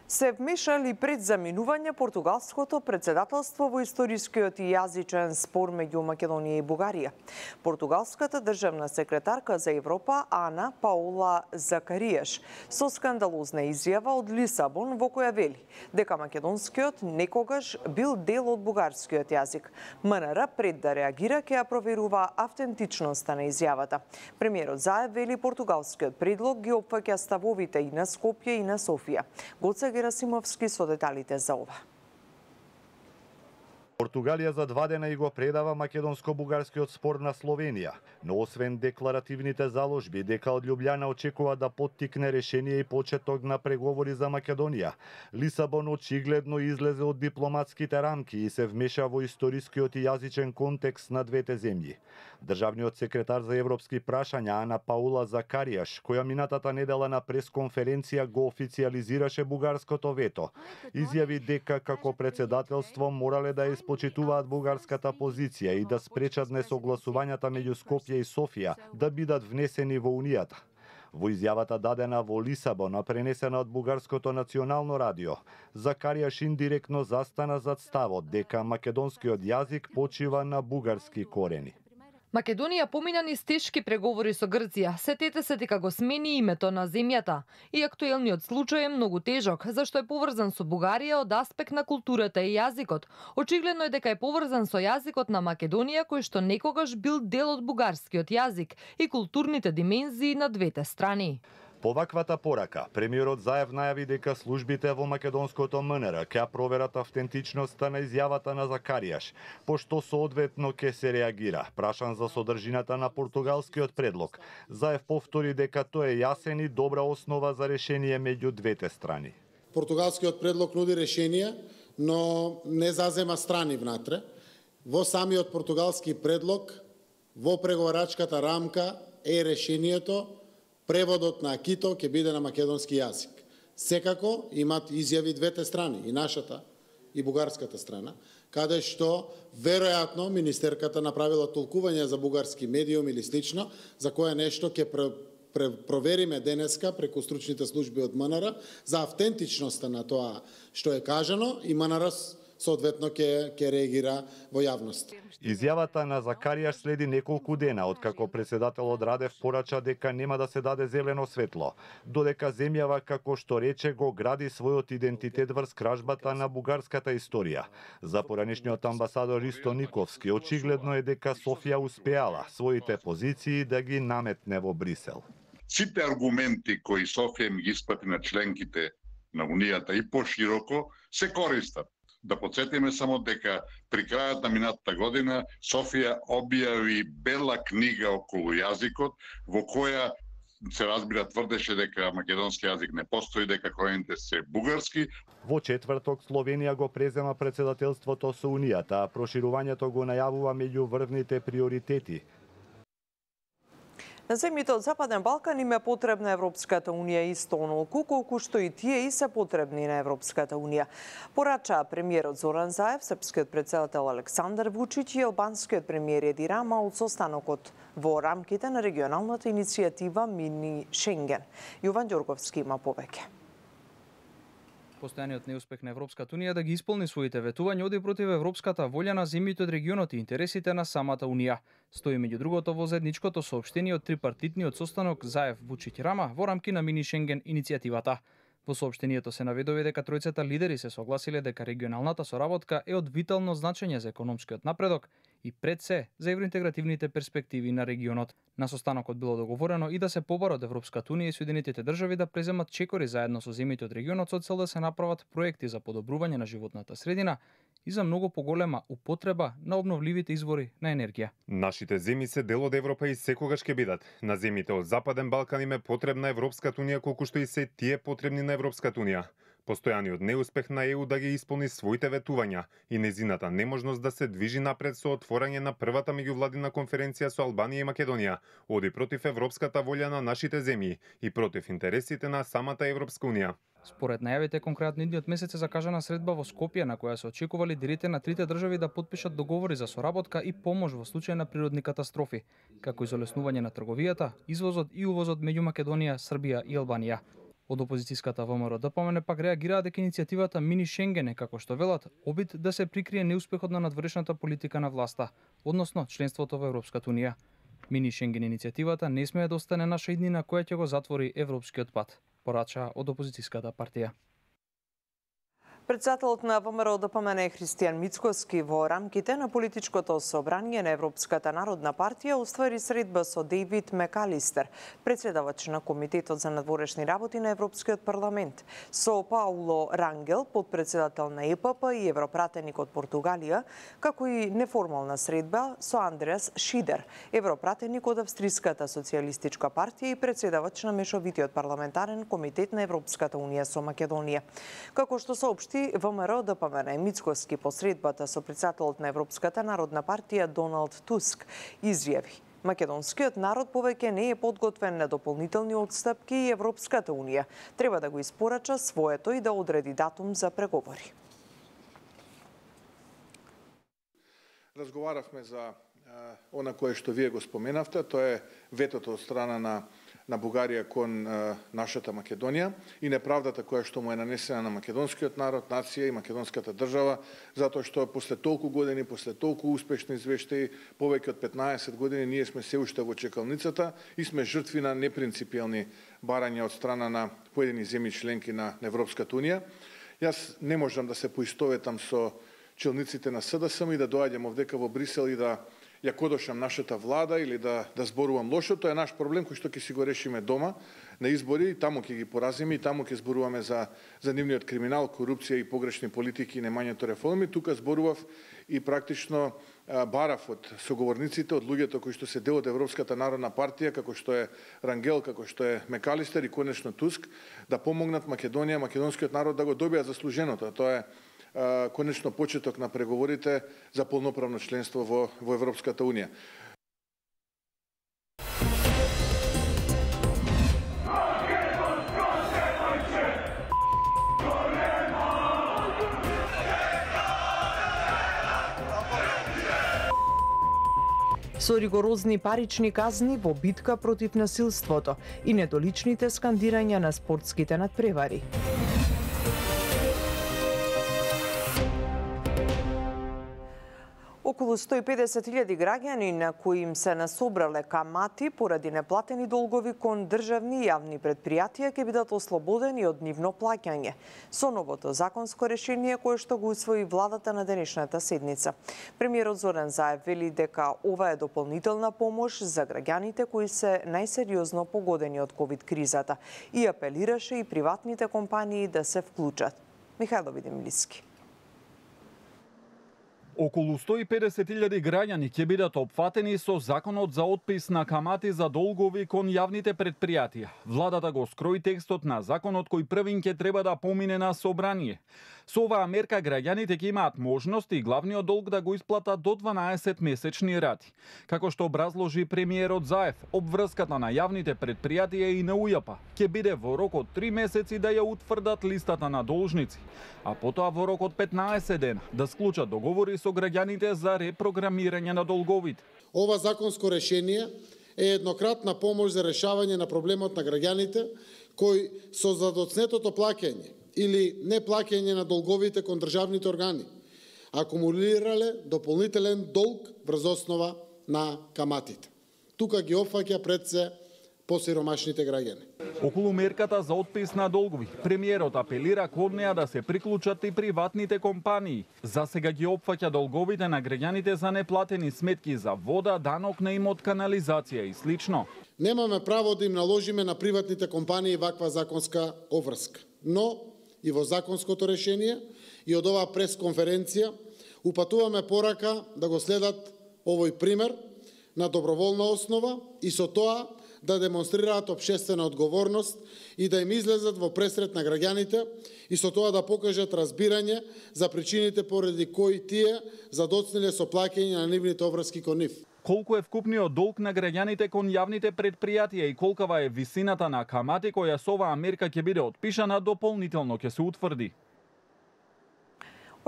Се вмешали пред заминување португалското председателство во историскиот и јазичен спор меѓу Македонија и Бугарија. Португалската државна секретарка за Европа Ана Паула Закариеш со скандалозна изјава од Лисабон во која вели дека македонскиот некогаш бил дел од бугарскиот јазик. МНР пред да реагира ќе ја проверува автентичноста на изјавата. Премиерот Заев вели португалскиот предлог ги опфаќа ставовите и на Скопје и на Софија. Гоце Герасимовски со деталите за ова. Португалија за 2 дена и го предава македонско-бугарскиот спор на Словенија, но освен декларативните заложби дека од Љубљана очекува да поттикне решение и почеток на преговори за Македонија, Лисабон очигледно излезе од дипломатските рамки и се вмеша во историскиот и јазичен контекст на двете земји. Државниот секретар за европски прашања Ана Паула Закариеш, која минатата недела на пресконференција го официализираше бугарското вето, изјави дека како председателство морале да почитуваат бугарската позиција и да спречат несогласувањата меѓу Скопје и Софија да бидат внесени во Унијата. Во изјавата дадена во Лисабон, а пренесена од бугарското национално радио, Закариеш индиректно застана зад ставот дека македонскиот јазик почива на бугарски корени. Македонија помина низ тешки преговори со Грција. Сетете се дека го смени името на земјата. И актуелниот случај е многу тежок, зашто е поврзан со Бугарија од аспект на културата и јазикот. Очигледно е дека е поврзан со јазикот на Македонија, кој што некогаш бил дел од бугарскиот јазик и културните димензии на двете страни. По ваквата порака, премиерот Заев најави дека службите во македонското МНР ќе проверат автентичноста на изјавата на Закариеш, пошто соодветно ќе се реагира. Прашан за содржината на португалскиот предлог, Заев повтори дека тој е јасен и добра основа за решение меѓу двете страни. Португалскиот предлог нуди решение, но не зазема страни внатре. Во самиот португалски предлог, во преговарачката рамка е решението преводот на акито ќе биде на македонски јазик. Секако имат изјави двете страни, и нашата и бугарската страна, каде што веројатно министерката направила толкување за бугарски медиум или слично, за кое нешто ќе провериме денеска преку стручните служби од МНР за автентичноста на тоа што е кажано и МНР соодветно ќе реагира во јавност. Изјавата на Закариеш следи неколку дена откако председателот Радев порача дека нема да се даде зелено светло, додека земјава, како што рече, го гради својот идентитет врз кражбата на бугарската историја. За поранешниот амбасадор Ристо Никовски очигледно е дека Софија успеала своите позиции да ги наметне во Брисел. Сите аргументи кои Софија ми ги испрати на членките на Унијата и пошироко се користат. Да подсетиме само дека при крајот на минатата година Софија објави бела книга околу јазикот во која се разбира тврдеше дека македонски јазик не постои, дека корените се бугарски. Во четврток Словенија го презема председателството со Унијата, а проширувањето го најавува меѓу врвните приоритети. На земјите од Западен Балкан им е потребна Европската Унија исто онолку колку што и тие и се потребни на Европската Унија. Порача премиерот Зоран Заев, српскиот председател Александар Вучиќ и албанскиот премиер Еди Рама од состанокот во рамките на регионалната иницијатива Мини Шенген. Јован Ѓорговски има повеќе. Постојаниот неуспех на Европската Унија да ги исполни своите ветувања оди против европската волја на земјите од регионот и интересите на самата Унија. Стои меѓу другото во заедничкото соопштение од трипартитниот состанок Заев Вучиќ Рама во рамки на Мини Шенген иницијативата. Во соопштението се наведува дека тројцата лидери се согласиле дека регионалната соработка е од витално значење за економскиот напредок и пред се за евроинтегративните перспективи на регионот. На состанокот било договорено и да се побарат Европската Унија и Соединетите држави да преземат чекори заедно со земјите од регионот со цел да се направат проекти за подобрување на животната средина и за многу поголема употреба на обновливите извори на енергија. Нашите земји се дел од Европа и секогаш ќе бидат. На земјите од Западен Балкан им е потребна Европската Унија колку што и се тие потребни на Европската Унија. Постојаниот неуспех на ЕУ да ги исполни своите ветувања и незината неможност да се движи напред со отворање на првата меѓувладина конференција со Албанија и Македонија оди против европската волја на нашите земји и против интересите на самата Европска Унија. Според најавите, конкретно идниот месец е закажана средба во Скопје на која се очекува лидерите на трите држави да потпишат договори за соработка и помош во случај на природни катастрофи, како и за олеснување на трговијата, извозот и увозот меѓу Македонија, Србија и Албанија. Од опозицијската ВМРО-ДПМН пак реагираа дека иницијативата Мини Шенген е, како што велат, обид да се прикрие неуспехот на надворешната политика на власта, односно членството во Европската унија. Мини Шенген иницијативата не смее да остане наша иднина која ќе го затвори европскиот пат, порача од опозицијската партија. Председателот на ВМРО-ДПМН Христијан Мицкоски во рамките на политичкото собрание на Европската народна партија уствари средба со Дейвид Мекалистер, председавач на Комитетот за надворешни работи на Европскиот парламент, со Пауло Рангел, подпредседател на ЕПП и европратеник од Португалија, како и неформална средба со Андреас Шидер, европратеник од Австриската социјалистичка партија и председавач на Мешовитиот парламентарен комитет на Европската унија со Македонија. Како што соопшти ВМРО-ДПМН Мицкоски по средбата со председателот на Европската народна партија Доналд Туск изјави: македонскиот народ повеќе не е подготвен на дополнителни отстапки и Европската унија треба да го испорача своето и да одреди датум за преговори. Разговаравме за она кое што вие го споменавте, тоа е ветото од страна на Бугарија кон нашата Македонија и неправдата која што му е нанесена на македонскиот народ, нација и македонската држава, затоа што после толку години, после толку успешни извештаи, повеќе од 15 години ние сме се уште во чекалницата и сме жртви на непринципиелни барања од страна на поедини земји членки на Европската унија. Јас не можам да се поистоветам со челниците на СДСМ и да доаѓам овдека во Брисел и да ја кодошам нашата влада или да зборувам лошо. Тоа е наш проблем кој што ќе си го решиме дома на избори, и таму ќе ги поразиме и таму ќе зборуваме за нивниот криминал, корупција и погрешни политики и немањето реформи. Тука зборував и практично барав од соговорниците, од луѓето кои што се дел од Европската народна партија, како што е Рангел, како што е Мекалистер и конечно Туск, да помогнат Македонија, македонскиот народ да го добијат заслуженото. Тоа е конечно почеток на преговорите за полноправно членство во Европската унија. Со ригорозни парични казни во битка против насилството и недоличните скандирања на спортските надпревари. Околу 150.000 граѓани на кои им се насобрале камати поради неплатени долгови кон државни и јавни предпријатија ќе бидат ослободени од нивно плаќање со новото законско решение кое што го усвои владата на денешната седница. Премиерот Зоран Заев вели дека ова е дополнителна помош за граѓаните кои се најсериозно погодени од ковид кризата и апелираше и приватните компании да се вклучат. Михајло Видемлиски. Околу 150.000 граѓани ќе бидат опфатени со законот за отпис на камати за долгови кон јавните предпријатија. Владата го скрои текстот на законот кој првин ќе треба да помине на собрание. Со оваа мерка граѓаните ќе имаат можност и главниот долг да го исплатат до 12 месечни рати. Како што образложи премиерот Заев, обврската на јавните предпријатија и на УЈП ќе биде во рок од 3 месеци да ја утврдат листата на должници, а потоа во рок од 15 дена да склучат договори со граѓаните за репрограмирање на долговите. Ова законско решение е еднократна помош за решавање на проблемот на граѓаните кои со задоцнетото плаќање или неплаќање на долговите кон државните органи акумулирале дополнителен долг врз основа на каматите. Тука ги опфаќа пред се посиромашните граѓани. Околу мерката за отпис на долгови, премиерот апелира кон неа да се приклучат и приватните компании. За сега ги опфаќа долговите на граѓаните за неплатени сметки за вода, данок на имот, канализација и слично. Немаме право да им наложиме на приватните компании ваква законска обврска, но и во законското решение и од оваа пресконференција упатуваме порака да го следат овој пример на доброволна основа и со тоа да демонстрираат општествена одговорност и да им излезат во пресрет на граѓаните и со тоа да покажат разбирање за причините поради кои тие задоцнеле со плаќање на нивните обврски кон нив. Колку е вкупниот долг на граѓаните кон јавните предпријатија и колкава е висината на камати која со оваа мерка ќе биде отпишана, дополнително ќе се утврди.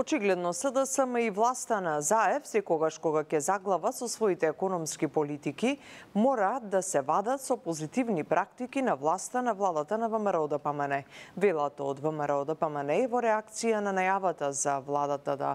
Очигледно СДСМ и власта на ЗАЕВ, секогаш кога ќе заглава со своите економски политики, мора да се вадат со позитивни практики на власта на владата на ВМРО-ДПМН. Велато од ВМРО-ДПМН во реакција на најавата за владата да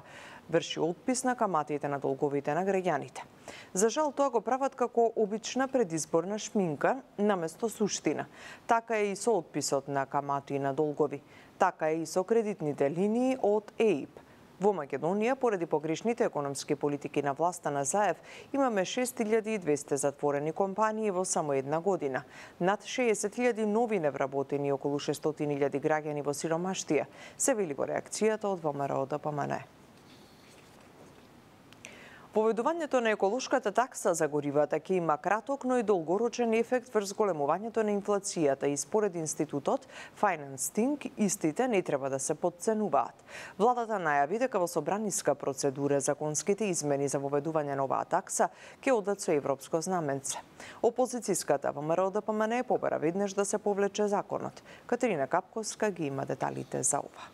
врши отпис на каматите на долговите на граѓаните. За жал, тоа го прават како обична предизборна шминка наместо суштина. Така е и со отписот на камати на долгови. Така е и со кредитните линии од ЕИБ. Во Македонија, поради погрешните економски политики на власта на ЗАЕВ, имаме 6200 затворени компании во само една година, над 60.000 нови невработени и околу 600.000 граѓани во сиромаштија, се вели во реакцијата од ВМРО-ДПМН. Поведувањето на еколошката такса за горивата ќе има краток, но и долгорочен ефект врз големувањето на инфлацијата и според институтот FinanceThink истите не треба да се подценуваат. Владата најави дека во собраниска процедура законските измени за воведување на оваа такса ќе одат со европско знаменце. Опозицијската ВМРО-ДПМН побара веднаш да се повлече законот. Катерина Капковска ги има деталите за ова.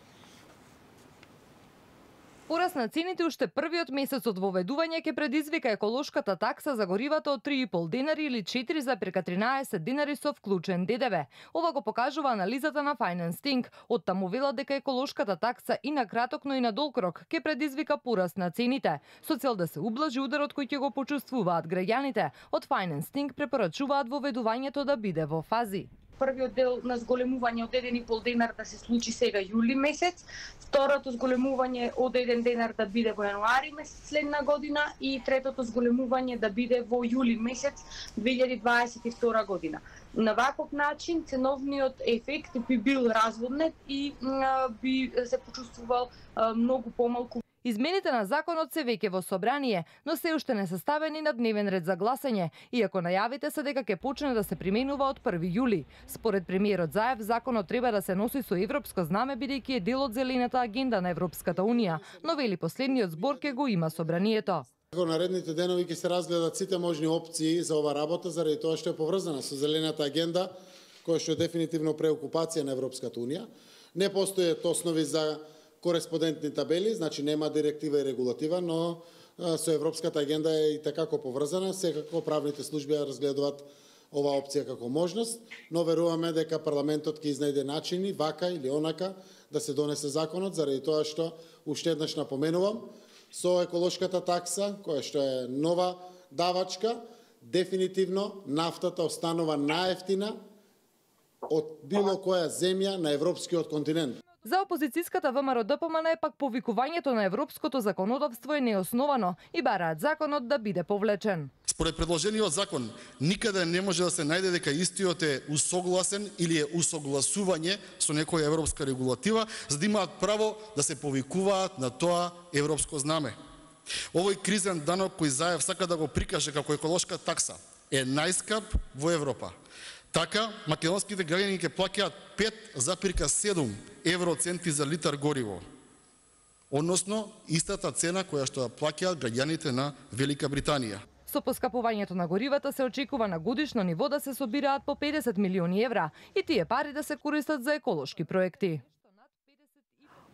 Пораст на цените уште првиот месец од воведување ќе предизвика еколошката такса за горивата од 3,5 денари или 4,13 денари со вклучен ДДВ. Ова го покажува анализата на FinanceThink. Од таму велат дека еколошката такса и на краток, но и на долг рок ќе предизвика пораст на цените, со цел да се ублажи ударот кој ќе го почувствуваат граѓаните. Од FinanceThink препорачуваат воведувањето да биде во фази. Првиот дел на зголемување од 1,5 денар да се случи сега јули месец, второто зголемување од 1 денар да биде во јануари месец следна година и третото зголемување да биде во јули месец 2022 година. На ваков начин ценовниот ефект би бил разводнет и би се почувствувал многу помалку. Измените на законот се веќе во собрание, но се уште не се ставени на дневен ред за гласање, иако најавите се дека ќе почне да се применува од 1 јули. Според премиерот Заев, законот треба да се носи со европско знаме бидејќи е дел од зелената агенда на Европската унија, но вели последниот збор ќе го има собранието. Во наредните денови ќе се разгледат сите можни опции за ова работа, заради тоа што е поврзана со зелената агенда, која што е дефинитивно преокупација на Европската унија. Не постојат основи за кореспондентни табели, значи нема директива и регулатива, но со Европската агенда е и такако поврзана. Секако правните служби ја разгледуваат оваа опција како можност, но веруваме дека парламентот ќе изнајде начини, вака или онака, да се донесе законот, заради тоа што уште еднаш напоменувам, со еколошката такса, која што е нова давачка, дефинитивно нафтата останува најевтина од било која земја на европскиот континент. За опозицијската ВМРО-ДПМН е пак повикувањето на европското законодавство е неосновано и бараат законот да биде повлечен. Според предложениот закон, никаде не може да се најде дека истиот е усогласен или е усогласување со некоја европска регулатива, за да имаат право да се повикуваат на тоа европско знаме. Овој кризен данок кој Заев сака да го прикаже како еколошка такса е најскап во Европа. Така, македонските граѓани ќе плаќаат 5,7 евроценти за литар гориво, односно истата цена која што ја плаќаат граѓаните на Велика Британија. Со поскапувањето на горивата се очекува на годишно ниво да се собираат по 50 милиони евра и тие пари да се користат за еколошки проекти.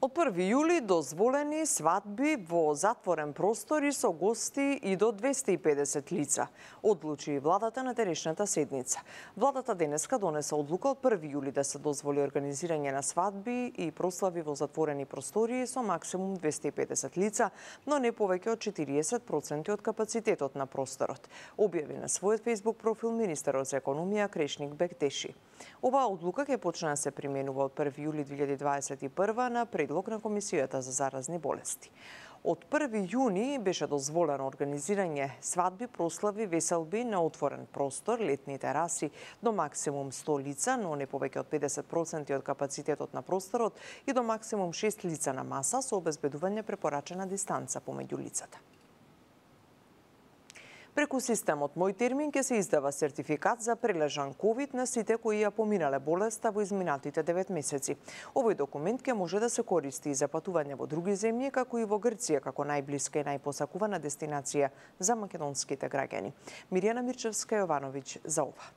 Од 1 јули дозволени свадби во затворен простор и со гости и до 250 лица, одлучи владата на денешната седница. Владата денеска донесе одлука од 1 јули да се дозволи организирање на свадби и прослави во затворени простории со максимум 250 лица, но не повеќе од 40% од капацитетот на просторот, објави на својот Facebook профил министерот за економија Крешник Бектеши. Оваа одлука ќе почне да се применува од 1 јули 2021 на предлог на Комисијата за заразни болести. Од 1 јуни беше дозволено организирање свадби, прослави, веселби на отворен простор, летни тераси до максимум 100 лица, но не повеќе од 50% од капацитетот на просторот и до максимум 6 лица на маса со обезбедување препорачена дистанца помеѓу лицата. Преку системот Мој термин ќе се издава сертификат за прележан ковид на сите кои ја поминале болеста во изминатите 9 месеци. Овој документ ќе може да се користи и за патување во други земји, како и во Грција, како најблиска и најпосакувана дестинација за македонските граѓани. Мирјана Мирчевска-Јовановиќ за ова.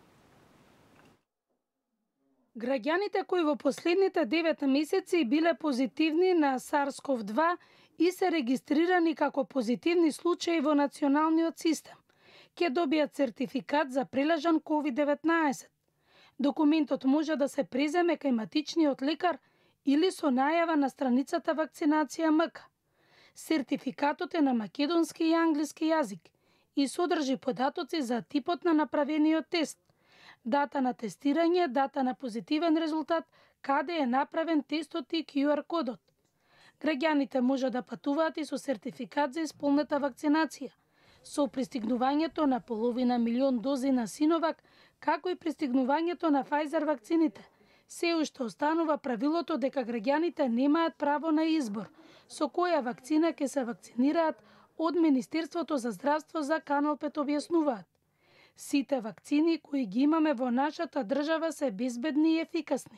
Граѓаните кои во последните 9 месеци биле позитивни на SARS-CoV-2 и се регистрирани како позитивни случаи во националниот систем, ќе добијат сертификат за прележан COVID-19. Документот може да се преземе кај матичниот лекар или со најава на страницата Вакцинација МК. Сертификатот е на македонски и англиски јазик и содржи податоци за типот на направениот тест, дата на тестирање, дата на позитивен резултат, каде е направен тестот и QR кодот. Граѓаните може да патуваат и со сертификат за исполнета вакцинација, со пристигнувањето на 500 милион дози на Синовак, како и пристигнувањето на Pfizer вакцините. Се уште останува правилото дека граѓаните немаат право на избор со која вакцина ќе се вакцинираат, од Министерството за здравство за Канал 5 објаснуваат. Сите вакцини кои ги имаме во нашата држава се безбедни и ефикасни.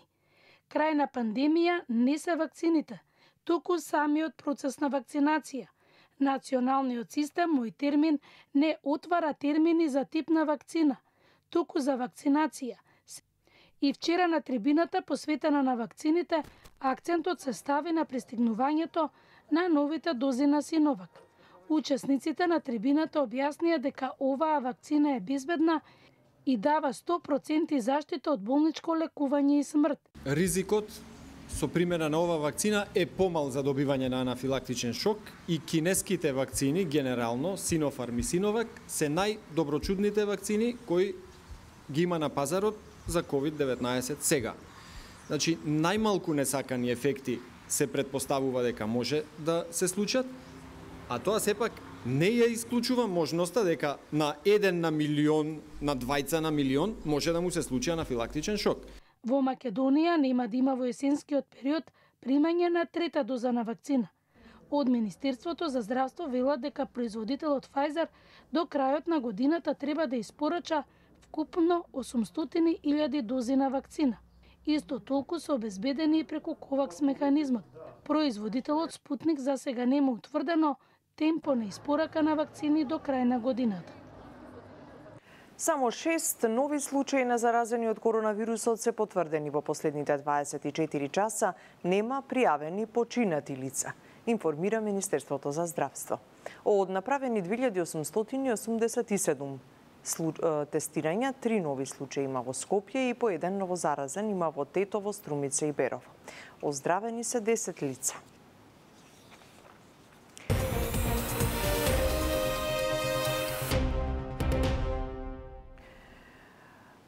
Крај на пандемија не се вакцините, туку самиот процес на вакцинација. Националниот систем, мој термин, не отвара термини за тип на вакцина, туку за вакцинација. И вчера на трибината посветена на вакцините, акцентот се стави на пристигнувањето на новите дози на Синовак. Учесниците на трибината објаснија дека оваа вакцина е безбедна и дава 100% заштита од болничко лекување и смрт. Ризикот со примена на ова вакцина е помал за добивање на анафилактичен шок и кинеските вакцини, генерално, Синофарм и Синовак, се најдоброчудните вакцини кои ги има на пазарот за COVID-19 сега. Значи, најмалку несакани ефекти се предпоставува дека може да се случат, а тоа сепак не ја исклучува можноста дека на 1 на милион, на 2 на милион може да му се случи анафилактичен шок. Во Македонија нема да има во есенскиот период примање на трета доза на вакцина. Од Министерството за здравство велат дека производителот Pfizer до крајот на годината треба да испорача вкупно 800.000 дози на вакцина. Исто толку се обезбедени и преку Ковакс механизмот. Производителот Спутник за сега нема утврдено темпо на испорака на вакцини до крај на годината. Само 6 нови случаи на заразени од коронавирусот се потврдени во последните 24 часа, нема пријавени починати лица, информира Министерството за здравство. Од направени 2887 тестирања, 3 нови случаи има во Скопје и по 1 новозаразен има во Тетово, Струмица и Берово. Оздравени се 10 лица.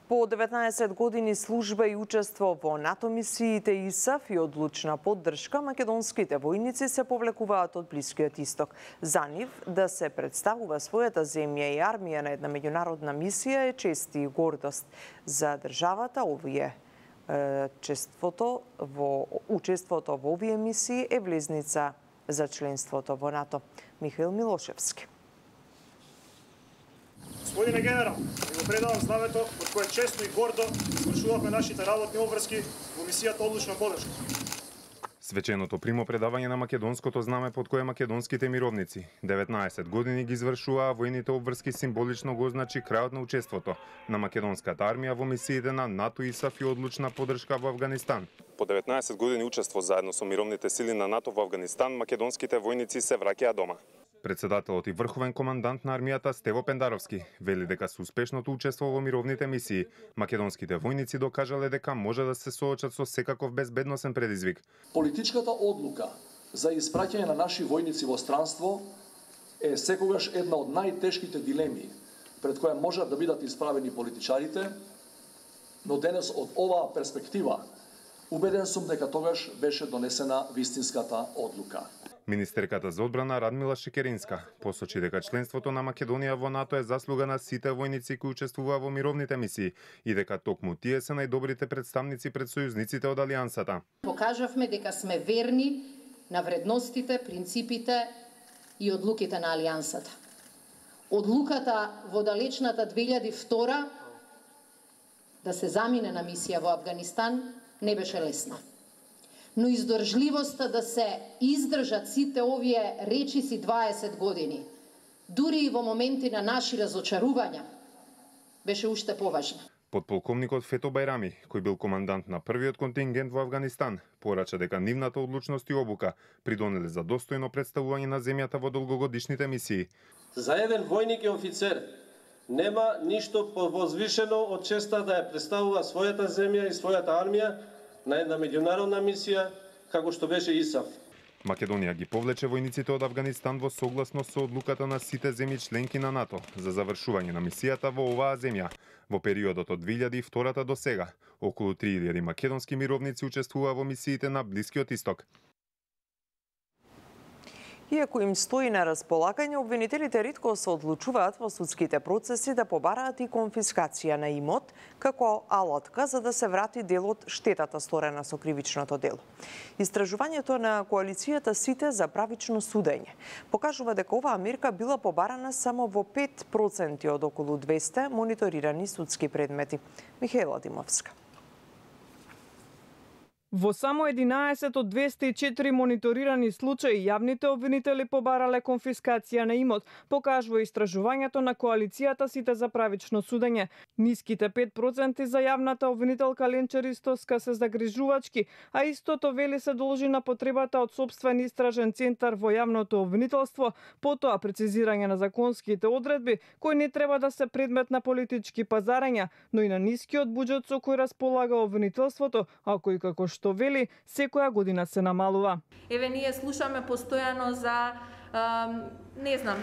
По 19 години служба и учество во НАТО мисиите ИСАФ и одлучна поддршка, македонските војници се повлекуваат од Блискиот Исток. За нив да се представува својата земја и армија на една меѓународна мисија е чест и гордост. За државата учеството во овие мисии е влезница за членството во НАТО. Михаил Милошевски. Господине генерал, ви го предавам знамето од кое честно и гордо извршувавме нашите работни обврски во мисијата одлучна поддршка. Свеченото примопредавање на македонското знаме под кое македонските мировници 19 години ги извршуваа војните обврски символично го означи крајот на учеството на македонската армија во мисиите на НАТО, ИСАФ и одлучна поддршка во Авганистан. По 19 години учество заедно со мировните сили на НАТО во Авганистан, македонските војници се враќаат дома. Председателот и врховен командант на армијата Стево Пендаровски вели дека со успешното учество во мировните мисии, македонските војници докажале дека може да се соочат со секаков безбедносен предизвик. Политичката одлука за испраќање на наши војници во странство е секогаш една од најтешките дилеми пред која можат да бидат исправени политичарите, но денес од оваа перспектива убеден сум дека тогаш беше донесена вистинската одлука. Министерката за одбрана Радмила Шекеринска посочи дека членството на Македонија во НАТО е заслуга на сите војници кои учествуваа во мировните мисии и дека токму тие се најдобрите представници пред сојузниците од Алијансата. Покажавме дека сме верни на вредностите, принципите и одлуките на Алијансата. Одлуката во далечната 2002 да се замине на мисија во Авганистан не беше лесна. Но издржливоста да се издржат сите овие речиси 20 години, дури и во моменти на наши разочарувања, беше уште поважна. Подполковникот Фето Бајрами, кој бил командант на првиот контингент во Авганистан, порача дека нивната одлучност и обука придонеле за достојно представување на земјата во долгогодишните мисии. За еден војник и офицер нема ништо повозвишено од честа да ја представува својата земја и својата армија на една меѓународна мисија како што беше ИСАФ. Македонија ги повлече војниците од Авганистан во согласност со одлуката на сите земји членки на НАТО за завршување на мисијата во оваа земја. Во периодот од 2002 до сега, околу 3000 македонски мировници учествуваа во мисиите на Блискиот Исток. Иако им стои на располагање, обвинителите ретко се одлучуваат во судските процеси да побараат и конфискација на имот како алатка за да се врати дел од штетата сторена со кривичното дело. Истражувањето на коалицијата Сите за правично судење покажува дека оваа мерка била побарана само во 5% од околу 200 мониторирани судски предмети. Михаела Димовска. Во само 11 од 204 мониторирани случаи, јавните обвинители побарале конфискација на имот, покажува истражувањето на коалицијата Сите за правично судење. Ниските 5% за јавната обвинителка Ленча Ристовска се загрижувачки, а истото вели се должи на потребата од сопствен истражен центар во јавното обвинителство, потоа прецизирање на законските одредби, кои не треба да се предмет на политички пазарења, но и на нискиот буџет со кој располага обвинителството, а кој како што вели, секоја година се намалува. Еве ние слушаме постојано за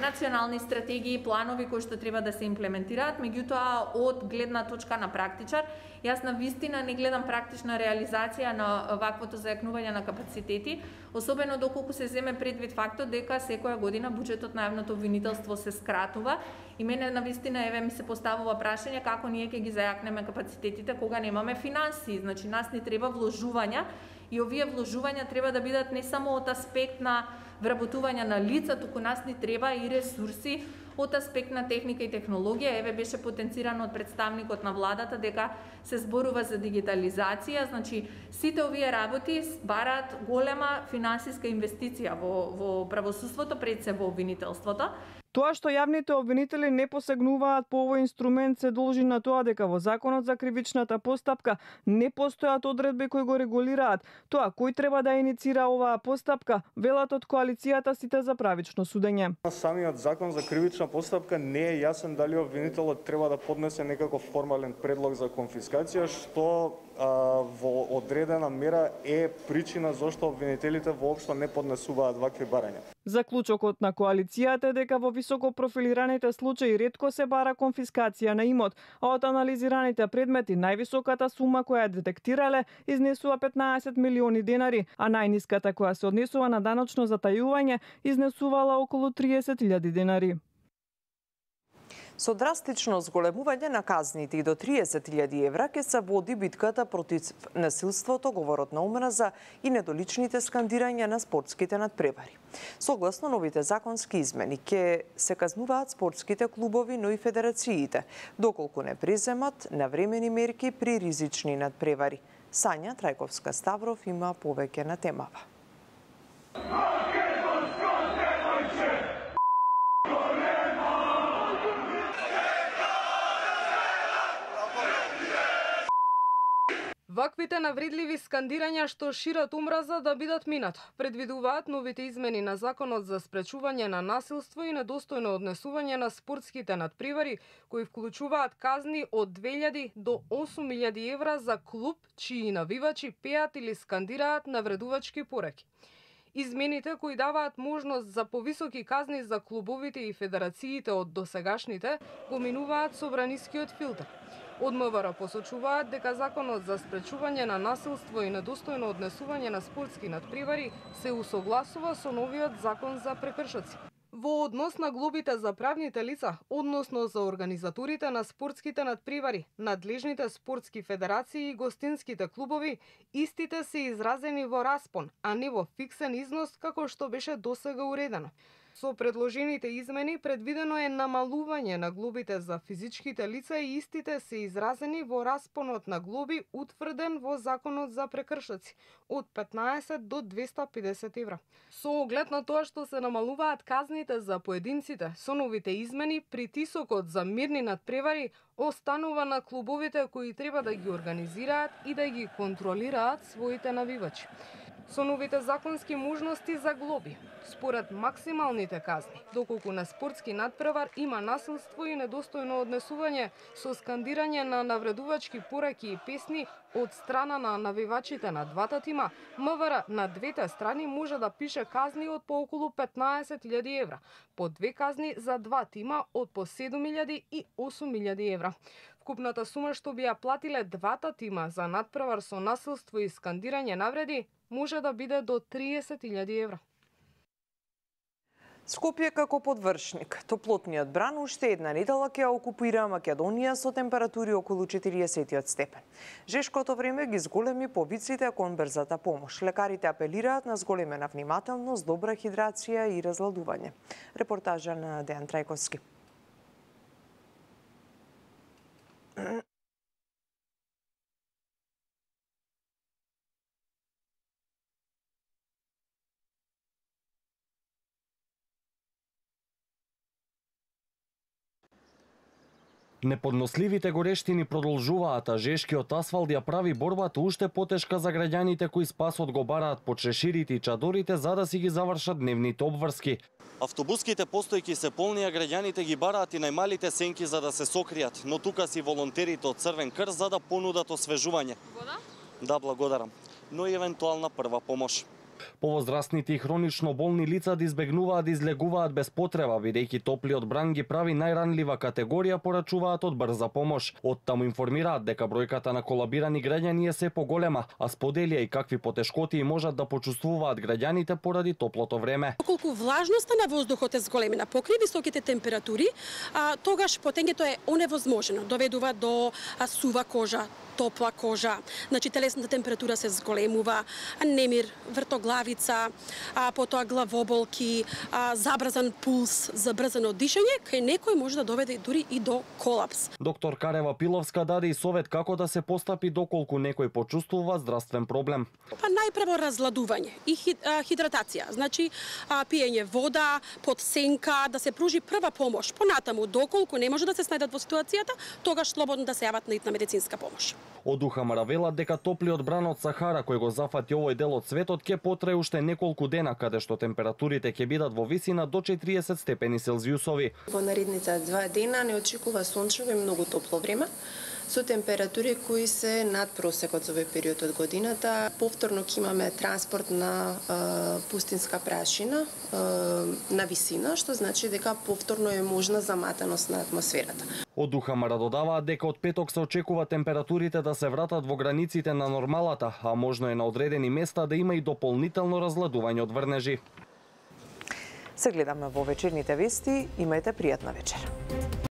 национални стратегии, планови кои што треба да се имплементираат, меѓутоа од гледна точка на практичар, јас на вистина не гледам практична реализација на ваквото зајакнување на капацитети, особено доколку се земе предвид фактот дека секоја година буџетот на јавното обвинителство се скратува и мене на вистина еве ми се поставува прашање како ние ќе ги зајакнеме капацитетите кога немаме финансии. Значи нас ни треба вложувања и овие вложувања треба да бидат не само од аспект на вработување на лица, туку нас ни треба и ресурси од аспект на техника и технологија. Еве беше потенцирано од представникот на владата дека се зборува за дигитализација, значи сите овие работи бараат голема финансиска инвестиција во правосудството, пред се во обвинителството. Тоа што јавните обвинители не посегнуваат по овој инструмент се должи на тоа дека во Законот за кривичната постапка не постојат одредби кои го регулираат тоа кој треба да иницира оваа постапка, велат од коалицијата Сите за правично судење. Самиот Закон за кривична постапка не е јасен дали обвинителот треба да поднесе некаков формален предлог за конфискација, што во одредена мера е причина зашто обвинителите воопшто не поднесуваат вакви барања. Заклучокот на коалицијата е дека во високо профилираните случаи ретко се бара конфискација на имот, а од анализираните предмети највисоката сума која детектирале изнесува 15 милиони денари, а најниската која се однесува на даночно затајување изнесувала околу 30.000 денари. Со драстично зголемување на казните и до 30.000 евра ќе се води битката против насилството, говорот на омраза и недоличните скандирања на спортските надпревари. Согласно новите законски измени ќе се казнуваат спортските клубови, но и федерациите, доколку не преземат навремени мерки при ризични надпревари. Сања Трајковска-Ставров има повеќе на темава. Ваквите навредливи скандирања што шират омраза да бидат минат, предвидуваат новите измени на Законот за спречување на насилство и недостојно однесување на спортските надпревари, кои вклучуваат казни од 2000 до 8000 евра за клуб чии навивачи пеат или скандираат навредувачки пореки. Измените кои даваат можност за повисоки казни за клубовите и федерациите од досегашните го минуваат собранискиот филтер. Од МВР посочуваат дека Законот за спречување на насилство и недостојно однесување на спортски надпревари се усогласува со новиот Закон за прекршоци. Во однос на глобите за правните лица, односно за организаторите на спортските надпревари, надлежните спортски федерации и гостинските клубови, истите се изразени во распон, а не во фиксен износ како што беше досега уредено. Со предложените измени предвидено е намалување на глобите за физичките лица и истите се изразени во распонот на глоби утврден во Законот за прекршоци од 15 до 250 евра. Со оглед на тоа што се намалуваат казните за поединците, со новите измени притисокот за мирни надпревари останува на клубовите кои треба да ги организираат и да ги контролираат своите навивачи. Со новите законски можности за глоби, според максималните казни, доколку на спортски надпревар има насилство и недостојно однесување со скандирање на навредувачки пораки и песни од страна на навивачите на двата тима, МВР на двете страни може да пише казни од по околу 15.000 евра, по 2 казни за 2 тима од по 7.000 и 8.000 евра. Вкупната сума што би ја платиле двата тима за надпревар со насилство и скандирање навреди може да биде до 30.000 евра. Скопје како подвршник. Топлотниот бран уште една недела ќе окупира Македонија со температури околу 40 степен. Жешкото време ги зголеми повиците кон брзата помош. Лекарите апелираат на зголемена внимателност, добра хидрација и разладување. Репортажа на Дејан Трајковски. Неподносливите горештини продолжуваат, а жешкиот асфалт ја прави борбата уште потешка за граѓаните кои спасот го бараат по чеширите и чадорите за да си ги завршат дневните обврски. Автобуските постојки се полни, а граѓаните ги бараат и најмалите сенки за да се сокријат, но тука си волонтерите од Црвен крст за да понудат освежување. Вода? Да, благодарам. Но и евентуална прва помош. Повозрастните и хронично болни лица да избегнуваат да излегуваат без потреба, бидејќи топлиот бран ги прави најранлива категорија, порачуваат од брза помош. Оттаму информираат дека бројката на колабирани граѓани е се поголема, а споделија и какви потешкоти можат да почувствуваат граѓаните поради топлото време. Колку влажноста на воздухот е зголемена покрај високите температури, тогаш потењето е оневозможено, доведува до сува кожа, топла кожа, значи телесната температура се зголемува, немир, вртоглавица, потоа главоболки, забрзан пулс, забрзано дишење, кај некој може да доведе дури и до колапс. Доктор Карева Пиловска даде и совет како да се постапи доколку некој почувствува здравствен проблем. Најпрво разладување и хидратација, значи пиење вода, под сенка, да се пружи прва помош. Понатаму, доколку не може да се снајдат во ситуацијата, тогаш слободно да се јават на медицинска помош. Од Ухамара велат дека топлиот бран од Сахара кој го зафати овој дел од светот ќе потрае уште неколку дена, каде што температурите ќе бидат во висина до 40 степени Целзиусови. Во наредните 2 дена не очекува сончево и многу топло време, со температури кои се над просекот за овој период од годината. Повторно ќе имаме транспорт на пустинска прашина на висина, што значи дека повторно е можна заматаност на атмосферата. Од Ухамара додаваат дека од петок се очекува температурите да се вратат во границите на нормалата, а можно е на одредени места да има и дополнително разладување од врнежи. Се гледаме во вечерните вести, имајте пријатна вечер.